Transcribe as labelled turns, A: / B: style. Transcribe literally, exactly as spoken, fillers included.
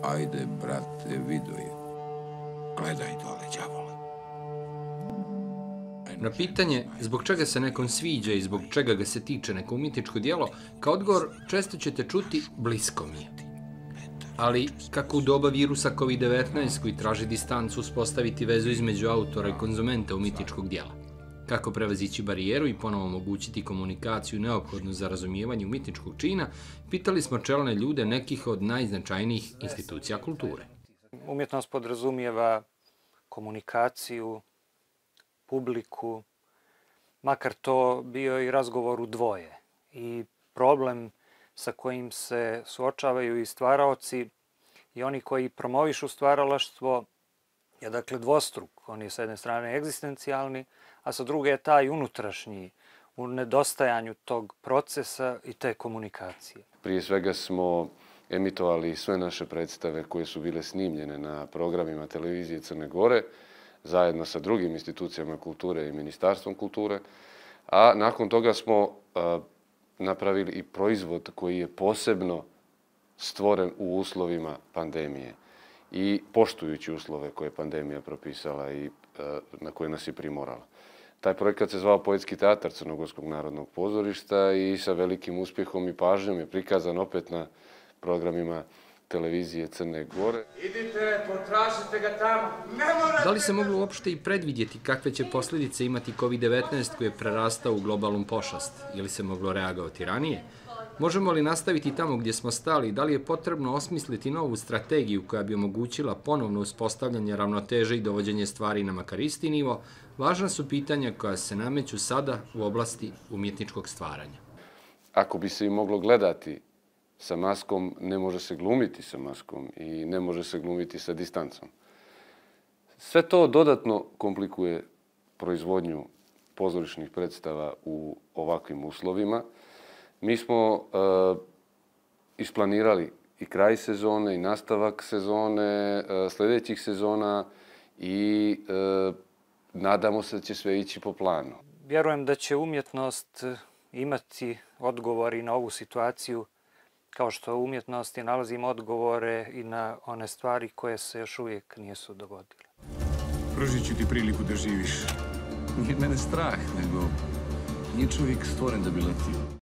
A: Ajde, brate, vido je. Gledaj dole, đavole.
B: Na pitanje zbog čega se nekom sviđa i zbog čega ga se tiče neko umjetničko djelo, kao odgovor često ćete čuti blisko mi je. Ali kako u doba virusa kovid devetnaest koji traži distancu uspostaviti vezu između autora i konzumenta umjetničkog djela? Kako prevazići barijeru i ponovo omogućiti komunikaciju neophodnu za razumijevanje umjetničkog čina, pitali smo čelne ljude nekih od najznačajnijih institucija kulture.
C: Umjetnost podrazumijeva komunikaciju, publiku, makar to bio i razgovor u dvoje. I problem sa kojim se suočavaju i stvaraoci i oni koji promovišu stvaralaštvo je dakle dvostruk. On je s jedne strane egzistencijalni, a sa druge je taj unutrašnji, u nedostajanju tog procesa i te komunikacije.
D: Prije svega smo emitovali sve naše predstave koje su bile snimljene na programima televizije Crne Gore, zajedno sa drugim institucijama kulture i Ministarstvom kulture, a nakon toga smo a, napravili i proizvod koji je posebno stvoren u uslovima pandemije i poštujući uslove koje je pandemija propisala i a, na koje nas je primorala. Taj projekat se zvao Poetski teatar Crnogorskog narodnog pozorišta i sa velikim uspjehom i pažnjom je prikazan opet na programima televizije Crne Gore.
E: Idite, potražite ga tamo.
B: Da li se moglo uopšte i predvidjeti kakve će posljedice imati kovid devetnaest koji je prerastao u globalnu pošast? Ili se moglo reagovati ranije? Možemo li nastaviti tamo gdje smo stali? Da li je potrebno osmisliti novu strategiju koja bi omogućila ponovno uspostavljanje ravnoteže i dovođenje stvari na makar isti nivo? Važna su pitanja koja se nameću sada u oblasti umjetničkog stvaranja.
D: Ako bi se i moglo gledati sa maskom, ne može se glumiti sa maskom i ne može se glumiti sa distancom. Sve to dodatno komplikuje proizvodnju pozorišnih predstava u ovakvim uslovima. Mi smo e, isplanirali i kraj sezone i nastavak sezone, e, sljedećih sezona i e, nadamo se da će sve ići po planu.
C: Vjerujem da će umjetnost imati odgovori na ovu situaciju, kao što u umjetnosti nalazimo odgovore i na one stvari koje se još uvijek nisu dogodile.
A: Pružit ću ti priliku da živiš. Nije mene strah, nego nije čovjek stvoren da bi letio.